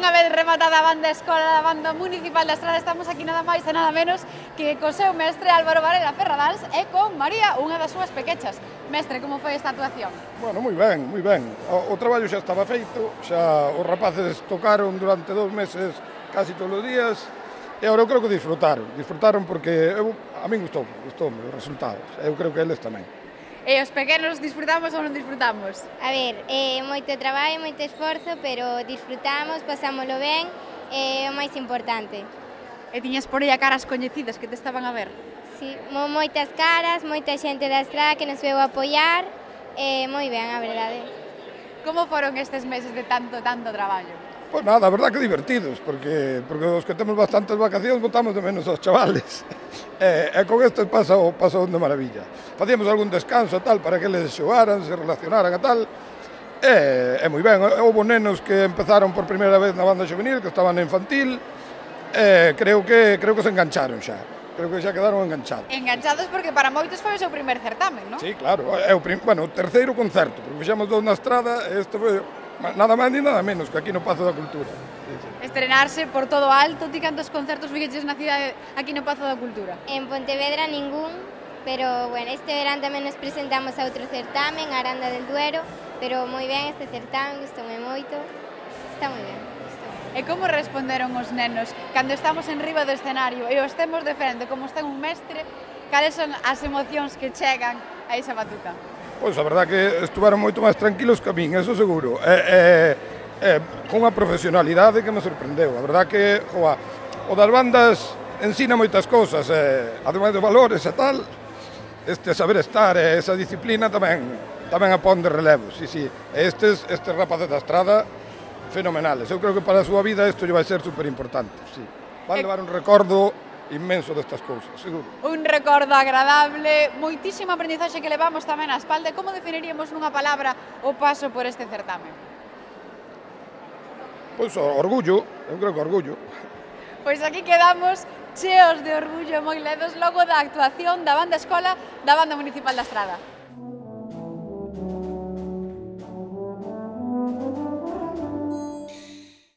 unha vez rematada a banda escola da banda municipal da Estrada, estamos aquí nada máis e nada menos que co seu mestre Álvaro Varela Ferradans e con María, unha das súas pequechas. Mestre, como foi esta actuación? Bueno, moi ben, moi ben. O traballo xa estaba feito, xa os rapaces tocaron durante 2 meses casi todos os días e agora eu creo que disfrutaron porque a min gustoume os resultados, eu creo que eles tamén. E os pequenos disfrutamos ou non disfrutamos? A ver, moito traballo, moito esforzo, pero disfrutamos, pasámoslo ben, é o máis importante. E tiñas por aí a caras coñecidas que te estaban a ver? Sí, moitas caras, moita xente da Estrada que nos veu a apoiar, moi ben, a verdade. Como foron estes meses de tanto traballo? Pois nada, a verdad que divertidos, porque os que temos bastantes vacacións botamos de menos aos chavales. E con estes pasou de maravilla. Facíamos algún descanso e tal para que eles xogaran, se relacionaran e tal. E moi ben, houve nenos que empezaron por primeira vez na banda juvenil, que estaban na infantil, e creo que se engancharon xa. Creo que xa quedaron enganchados. Enganchados porque para moitos foi o seu primer certamen, non? Sí, claro, é o terceiro concerto, porque fixemos 2 na Estrada e este foi nada máis ni nada menos que aquí no Pazo da Cultura. Sí, sí. Estrenarse por todo alto, ti cantos concertos fixeches na cidade aquí no Pazo da Cultura? En Pontevedra ningún, pero bueno, este verán tamén nos presentamos a outro certamen, a Aranda del Duero, pero moi ben este certamen, gustoume moito, está moi ben. E como responderon os nenos cando estamos en riba do escenario e os temos de frente, como está un mestre, cales son as emocións que chegan a esa batuta? Pois a verdad que estuveron moito máis tranquilos que a min, eso seguro. Con unha profesionalidade que me sorprendeu. A verdad que o das bandas ensina moitas cousas, ademais de valores e tal, este saber estar e esa disciplina tamén a pon de relevo. Sí. Estes rapaces da Estrada, fenomenales. Eu creo que para a súa vida isto lle vai ser superimportante. Sí. Van levar un recordo inmenso destas cousas, seguro. Un recordo agradable, moitísima aprendizaxe que levamos tamén á espalda. Como definiríamos nunha palabra o paso por este certamen? Pois orgullo, eu creo que orgullo. Pois aquí quedamos cheos de orgullo moi ledos logo da actuación da banda escola da banda municipal da Estrada.